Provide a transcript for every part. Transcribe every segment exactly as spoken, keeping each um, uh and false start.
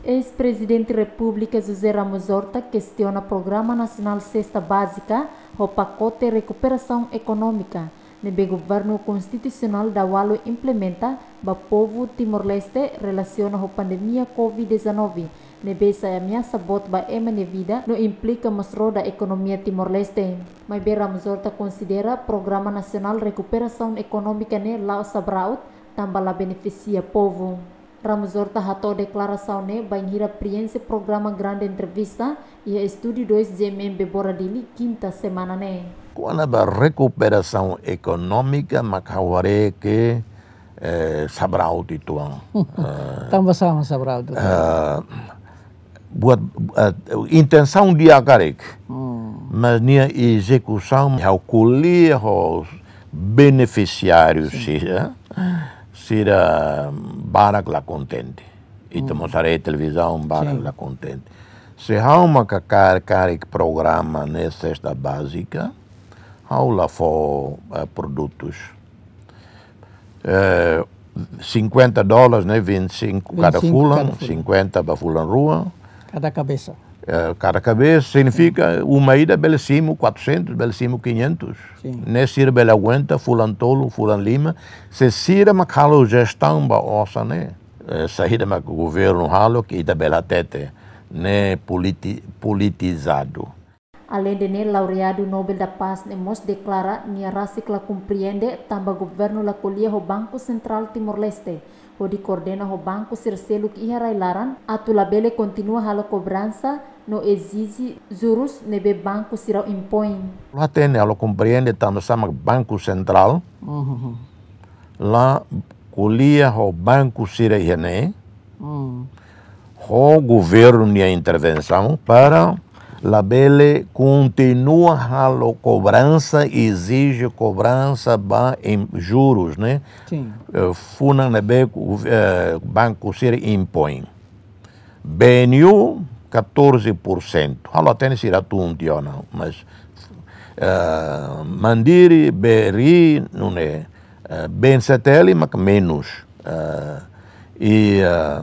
Eis-Prezidente Repúblika José Ramos Horta kestiona Programa Nasionál Sesta Bázika ho pakote rekuperasaun ekonómika ne'ebé Governu Konstitusionál daualu implementa ba povu Timor-Leste relasiona ho pandemia covid dezanove, ne'ebé sai ameasa boot ba ema nia vida no implika mós roda ekonomia Timor-Leste. Maibé Ramos Horta konsidera Programa Nasionál Rekuperasaun Ekonómika ne'e la'o sabraut, tanba la benefisia povu. Ramos Horta hato'o deklarasaun ne'e bainhira preenxe programa Grande Entrevista iha Estúdiu dois G M M Bebora Dili, kinta semana ne'e. Kona-ba rekuperasaun ekonómika mak ha'u haree ke, eh, sabraut uitoan. Eh, Tanba sá mak sabraut uitoan? Eh, buat, eh, intensaun di'ak karik. Hmm. Mas nia ezekusaun, ha'u ko'alia ho benefisiáriu, sin, sira, sira barak la kontente. Ita, hmm, mós haree televizaun, barak, sin, la kontente. Se ha'u maka kar-, karik programa ne'e sesta bázika, ha'u la fó, eh, produtus. Eh, cinquenta dólares, ne'e, vinte e cinco kada, vinte e cinco fulan, kada fulan, cinquenta ba fulan rua. Kada kabesa. Eh, kada kabesa signifika, hmm, uma ida bele simu quatrocentos, bele simu quinhentos. Sin. Ne'e sira bele aguenta fulan tolu, fulan lima. Se sira mak halo jestaun ba osan ne'e, eh, saida mak governu halo ke ita bele hatete, ne'e politi-, politizadu. Aleinde ne'e, laureadu Nobel da Paz ne'e mós deklara nia rasik la komprende tanba governu la ko'alia ho Banku Sentrál Timor-Leste, hodi koordena ho banku sira seluk iha rai-laran, atu labele kontinua halo kobransa no ezije jurus ne'ebé banku sira impoin. La hatene, la komprende tanba sá mak Banku Sentrál, mhm, la ko'alia ho banku sira iha ne'e, hmm, ho governu nia intervensaun para labele kontinua halo kobransa, ezije kobransa ba em juros, ne'e? Sin. Eh, funan ne'ebé, eh, banku sira impoin. B N U, catorze por cento. Ha'u la hatene sira tun tiha ona, mas, eh, Mandiri, B R I, nune'e, eh, B N C T L mak menus. Eh, i, eh,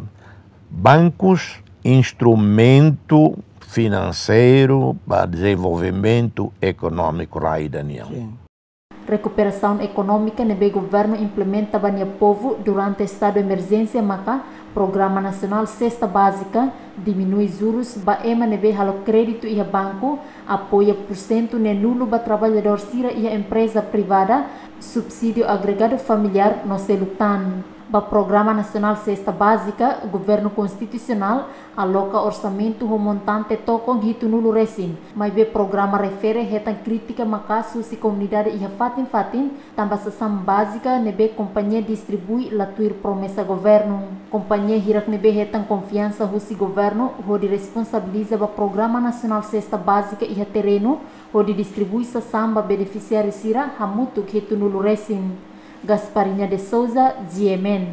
bankus instrumentu finanseiru ba dezenvolvimentu ekonómiku rai ida nian. Sin. Rekuperasaun ekonómika ne'ebé governu implementa ba nia povu durante estadu emerjénsia maka Programa Nasionál Sesta Bázika, diminui jurus ba ema ne'ebé halo kréditu iha banku, apoia pursentu neenulu ba traballadór sira iha empreza privada, subsídiu agregadu familiár no seluk tan. Ba Programa Nasionál Sesta Bázika, Governu Konstitusionál aloka orsamentu ho montante tokon hitunulu resin. Maibé programa refere hetan krítika maka'as husi komunidade iha fatin-fatin, tanba sasán bázika ne'ebé kompañia distribui la tuir promesa governu. Kompañia hirak ne'ebé hetan konfiansa husi governu hodi responsabiliza ba Programa Nasionál Sesta Bázika iha terrenu, hodi distribui sasán ba benefisiáriu sira hamutuk hitunulu resin. Gasparinha de Souza, G M N.